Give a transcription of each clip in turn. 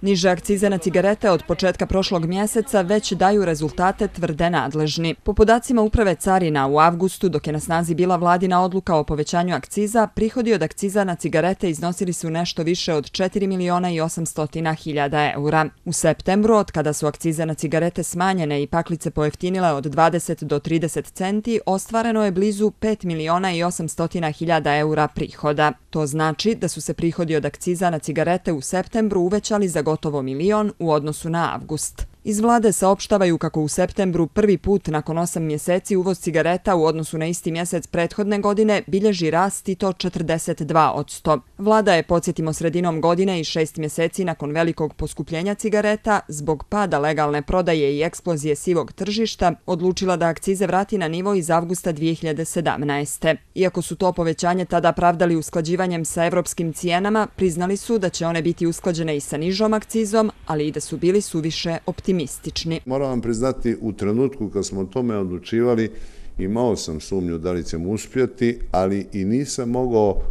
Niže akcize na cigarete od početka prošlog mjeseca već daju rezultate, tvrde nadležni. Po podacima Uprave carina u avgustu, dok je na snazi bila vladina odluka o povećanju akciza, prihodi od akciza na cigarete iznosili su nešto više od 4.800.000 eura. U septembru, od kada su akcize na cigarete smanjene i paklice pojeftinile od 20 do 30 centi, ostvareno je blizu 5.800.000 eura prihoda. To znači da su se prihodi od akciza na cigarete u septembru uvećali za gotovo 1.000.000 u odnosu na avgust. Iz vlade saopštavaju kako u septembru prvi put nakon 8 mjeseci uvoz cigareta u odnosu na isti mjesec prethodne godine bilježi rast i to 42%. Vlada je, podsjetimo, sredinom godine i 6 mjeseci nakon velikog poskupljenja cigareta, zbog pada legalne prodaje i eksplozije sivog tržišta, odlučila da akcize vrati na nivo iz avgusta 2017. Iako su to povećanje tada pravdali usklađivanjem sa evropskim cijenama, priznali su da će one biti usklađene i sa nižom akcizom, ali i da su bili suviše optimistični. Moram vam priznati, u trenutku kad smo o tome odlučivali, imao sam sumnju da li ćemo uspjeti, ali i nisam mogao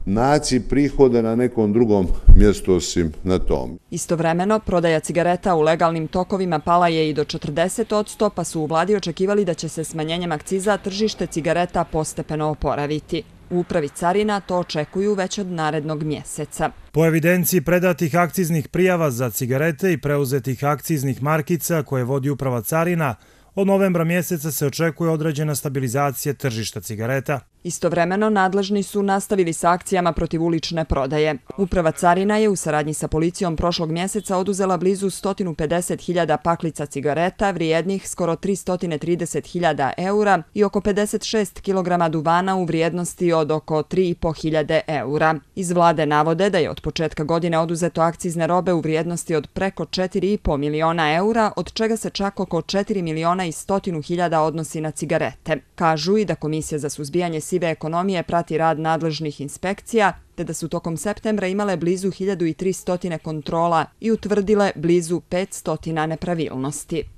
naći prihode na nekom drugom mjestu osim na tom. Istovremeno, prodaja cigareta u legalnim tokovima pala je i do 40%, pa su u vladi očekivali da će se smanjenjem akciza tržište cigareta postepeno oporaviti. U Upravi carina to očekuju već od narednog mjeseca. Po evidenciji predatih akciznih prijava za cigarete i preuzetih akciznih markica koje vodi Uprava carina, od novembra mjeseca se očekuje određena stabilizacija tržišta cigareta. Istovremeno, nadležni su nastavili sa akcijama protiv ulične prodaje. Uprava carina je u saradnji sa policijom prošlog mjeseca oduzela blizu 150.000 paklica cigareta, vrijednih skoro 330.000 eura i oko 56 kg duvana u vrijednosti od oko 3.500 eura. Iz vlade navode da je od početka godine oduzeto akcizne robe u vrijednosti od preko 4,5 miliona eura, od čega se čak oko 4.100.000 odnosi na cigarete. Kažu i da Komisija za suzbijanje sive ekonomije prati rad nadležnih inspekcija, te da su tokom septembra imale blizu 1300 kontrola i utvrdile blizu 500 nepravilnosti.